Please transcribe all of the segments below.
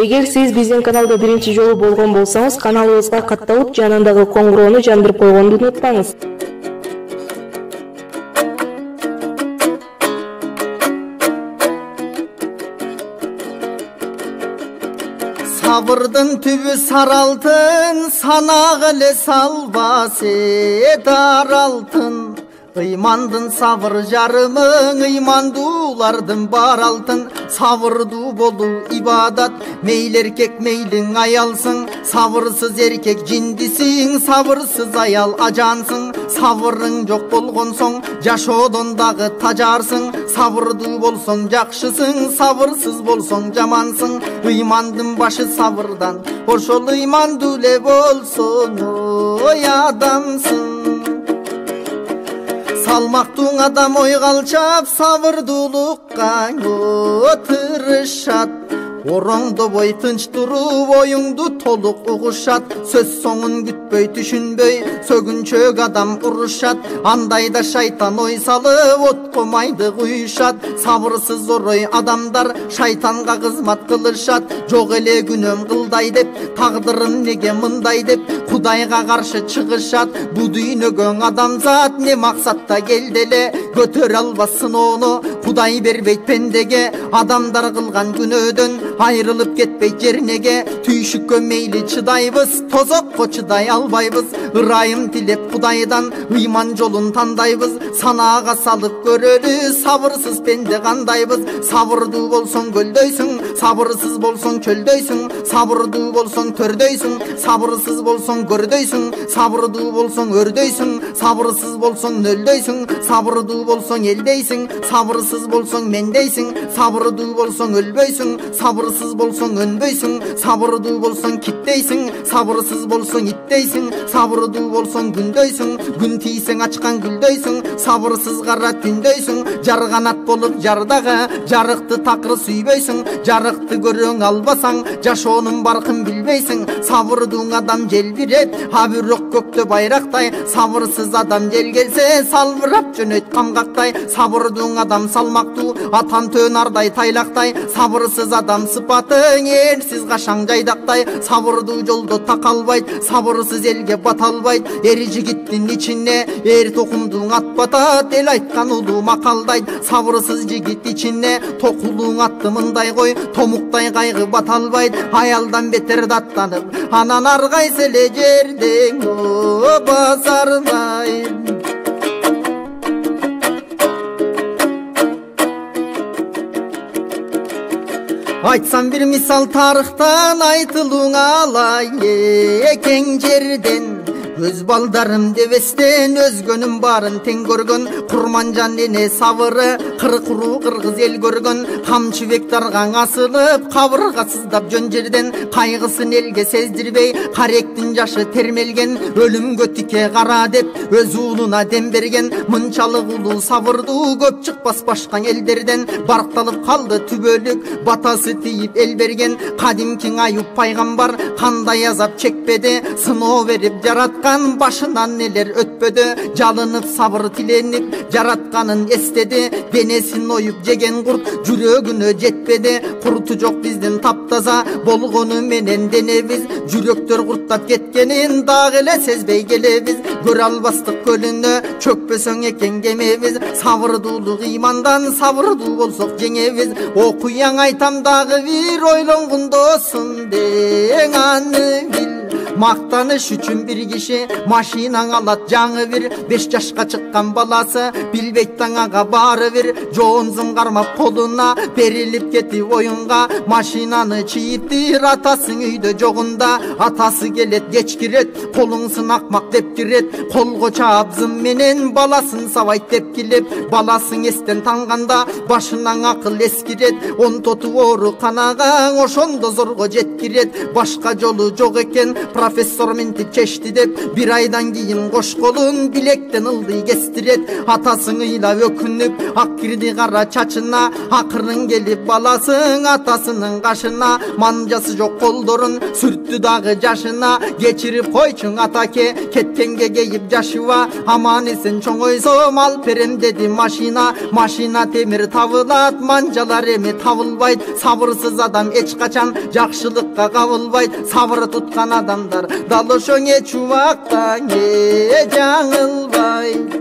Эгер сиз биздин каналда биринчи жолу болгон болсоңуз, каналыбызга катталып, жанындагы коңгуроону жандырып койгонду унутпаңыз. Сабырдын түбү сары алтын, санага эле салбасы дар алтын. Ыймандын сабыр жарымың, ыймандуулардын бар алтын. Сабырдуу болуу ибадат, мейли эркек мейлиң аялсың. Сабырсыз эркек жиндисиң, сабырсыз аял ажансың. Сабырың жок болгон соң жашоодон дагы тажарсың. Сабырдуу болсоң жакшысың, сабырсыз болсоң жамансың. Ыймандын башы сабырдан, ошол ыймандуу эле болсоң ой адамсың. Салмактуу адам ойго алчап, сабырдуулукка тырышат. Ороңдобой тынч туруп, оюңду толук угушат. Сөз соңун күтпөй, түшүнбөй, сөгүнчөк адам урушат. Андайда шайтан ой салып, отко майды куюшат. Сабырсыз орой адамдар шайтанга кызмат кылышат. Жок эле күнөөм кылдай деп, тагдырым неге мындай деп, Кудайга каршы чыгышат. Бу дүйнөгө адамзат не максатта келди эле, көтөрө албас сыноону Кудай бербейт пендеге. Адамдар кылган күнөөдөн айрылып кетпейт жернеге. Түйшүккө мейли чыдайбыз, тозокко чыдай албайбыз. Ырайым тилеп Кудайдан ыйман жолун тандайбыз. Санаага салып көрөлү, сабырсыз пенде кандайбыз. Сабырдуу болсоң көлдөйсүң, сабырсыз болсоң чөлдөйсүң. Сабырдуу болсоң төрдөйсүң, сабырсыз болсоң көрдөйсүң. Сабырдуу болсоң өрдөйсүң, сабырсыз болсоң нөлдөйсүң. Сабырдуу болсоң элдейсиң, сабырсыз болсоң мендейсиң. Сабырдуу болсоң өлбөйсүң, сабырсыз болсоң өнбөйсүң. Сабырдуу болсоң киттейсиң, сабырсыз болсоң иттейсиң. Сабырдуу болсоң күндөйсүң, күн тийсең ачкан гүлдөйсүң. Сабырсыз кара түндөйсүң, жарганат болуп жардагы, жарыкты такыр сүйбөйсүң. Жарыкты көрөң албасаң, жашоонун баркын билбейсиң. Сабырдуу адам желбирет, а бирок көктө байрактай. Сабырсыз адам жел келсе, салбырап жөнөйт камгактай. Сабырдуу адам салмактуу, атан төн ардай тайлактай. Сабырсыз адам сыпатың эрсиз кашаң жайдактай. Сабырдуу жолдо такалбайт, сабырсыз элге бата албайт. Эр жигиттин ичине эр токумдуң ат батат, эл айткан улуу макалдайт. Сабырсыз жигит ичине токулуң атты мындай кой, томуктай кайгы бата албайт. Аялдан бетер даттанып, анан ар кайсы эле жерден басарбай. Айтсам бир мисал тарыхтан, айтылууң алай кең жерден. Өз балдарым дебестен, өзгөнүн баарын тең көргөн. Курманжан эне сабыры, кыркуруу кыргыз эл көргөн. Камчыбек даргаң асылып, кабыргасыздап жөн жерден. Кайгысын элге сездирбей, каректин жашы термелген. Өлүмгө тике кара деп, өз уулуна дем берген. Мынчалык улуу сабырдуу, көп чыкпас башка элдерден. Баркталып калды түбөлүк, батасы тийип эл берген. Кадимкиң Аюп пайгамбар кандай азап чекпеди, сыноо берип жараткан. Башынан нелер өтпөдү, жалынып сабыр тиленип, жаратканын эстеди. Денесин оюп жеген курт жүрөгүнө жетпеди. Курту жок биздин таптаза болгону менен денебиз. Жүрөктөр курттап кеткенин дагы эле сезбей келебиз. Көрө албастык көлүнө чөкпөсөң экен кемебиз. Сабырдуулук ыймандан, сабырдуу болсок жеңебиз. Окуяң айтам дагы бир, ойлонгондосун дең аны бил. Мактаныш үчүн бир киши машинаң алат жаңы бир. 5 жашка чыккан баласы билбейт таңага баары бир. Жоонзун кармап колуна берилип кетип оюнга. Машинаны чийиптир атасың үйдө жогунда. Атасы келет кеч кирет, колуңсын акмак деп кирет. Колго чаап зым менен баласын сабайт тепкилеп. Баласың эстен танганда башынан акыл эскирет. Он тоту ооруканага ошондо зорго жеткирет. Башка жолу жок экен, профессор минтип чечти деп бир айдан кийин кош колун билектен ылдый кестирет. Атасың ыйлап өкүнүп ак кирди кара чачына, акырын келип баласың атасынын кашына. Манжасы жок колдорун сүрттү дагы жашына, кечирип койчуң атаке кеткенге кейип жашыба. Аман эсен чоңойсом алып берем деди машина. Машина темир табылат, манжалар эми табылбайт. Сабырсыз адам эч качан жакшылыкка кабылбайт. Сабыр туткан адамдар дал ошо эч убакта жаңылбайт.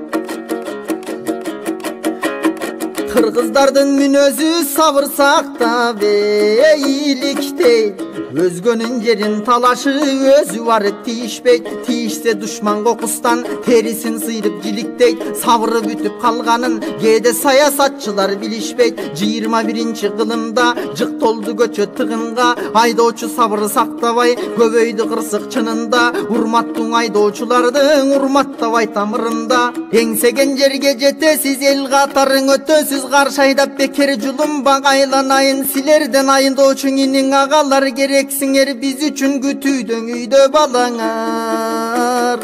Кыргыздардын мүнөзү сабыр сактап эйликтейт. Өзгөнүн жерин талашы өзү барып тийишпейт. Тийишсе душман кокустан терисин сыйрып жиликтейт. Сабыры бүтүп калганын кээде саясатчылар билишпейт. 21 кылымда жык толду көчө тыгынга, айдоочу сабыр сактабай көбөйдү кырсык чынында. Урматтуу айдоочулардын урматтабай тамырында. Эңсеген жерге жетесиз, эл катарын өтөсүз, каршы айдап бекер жулумбак айланайын. Силерден айдоочу инин агалар керексиңер, биз үчүн күтүүдөң үйдө балаңар.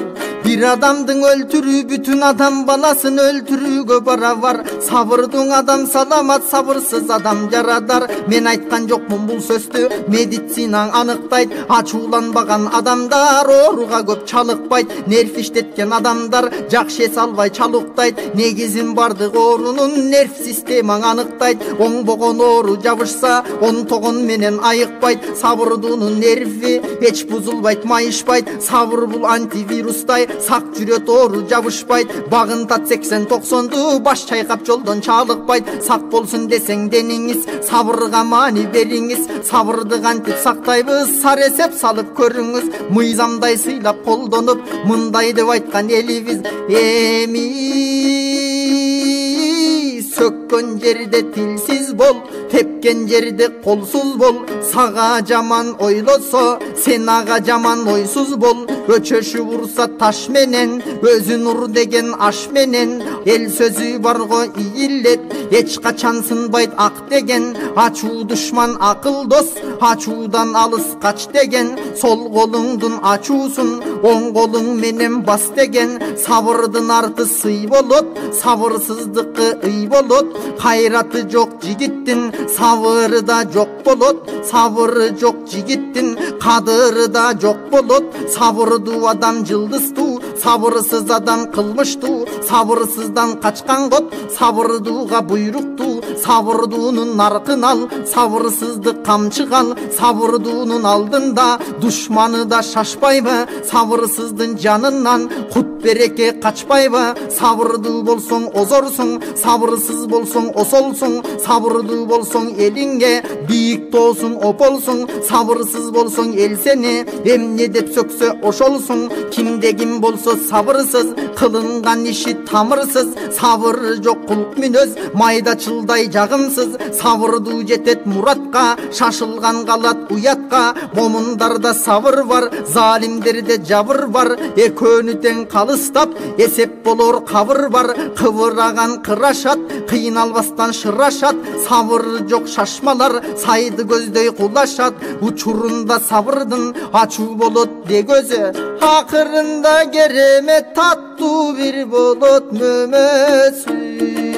Бир адамдын өлтүрүү бүтүн адам баласын өлтүрүүгө барабар. Сабырдың адам саламат, сабырсыз адам жарадар. Мен айткан жокмун бул сөздү, медицинаң аныктайт. Ачууланбаган адамдар ооруга көп чалыкпайт. Нерв иштеткен адамдар жакшы эс албай чалуктайт. Негизин бардык оорунун нерв системаң аныктайт. Оңбогон оору жабышса, онтогон менен айыкпайт. Сабырдуунун нерви эч бузулбайт, майышпайт. Сабыр бул антивирустай, сак жүрөт, оору жабышпайт. Багынтат 80-90ду баш чайкап жолдон чалыкпайт. Сак болсун десең дениңиз, сабырга маани бериңиз. Сабырды кантип сактайбыз, сар эсеп салып көрүңүз. Мыйзамдай сыйлап колдонуп, мындай деп айткан элибиз. Эми сөккөн жерде тилсиз бол, тепкен жерде колсуз бол. Сага жаман ойлосо, сен ага жаман ойсуз бол. Өчөшү урса таш менен, өзүн ур деген аш менен. Эл сөзү барго ийилет, эч качан сынбайт ак деген. Ачуу душман акыл дос, ачуудан алыс кач деген. Сол колуңдун ачуусун оң колуң менен бас деген. Сабырдын арты сый болот, сабырсыздыкы ый болот. Кайраты жок жигиттин сабыры да жок болот. Сабыры жок жигиттин кадыры да жок болот. Сабырдуу адам жылдыздуу, сабырсыз адам кылмыштуу. Сабырсыздан качкан кот сабырдууга буйруктуу. Сабырдуунун наркын ал, сабырсызды камчыга ал. Сабырдуунун алдында душманы да шашпайбы? Сабырсыздын жанынан кут береке качпайбы? Сабырдуу болсоң озорсуң, сабырсыз болсоң осолсуң. Сабырдуу болсоң элиңге бийик тоосуң, ополсуң. Сабырсыз болсоң эл сени эмне деп сөксө ошолсуң. Кимде ким болсо сабырсыз, кылынган иши тамырсыз. Сабыры жок кулк мүнөз, майдачылдай жагымсыз. Сабырдуу жетет муратка, шашылган калат уятка. Момундарда сабыр бар, залимдерде жабыр бар. Экөөнү тең калыстап, эсеп болор кабыр бар. Кыбыраган кырашат, кыйналбастан шырашат. Сабыры жок шашмалар, сайды көздөй кулашат. Учурунда сабырдын ачуу болот де көзү, акырында керемет таттуу бир болот мөмөсү.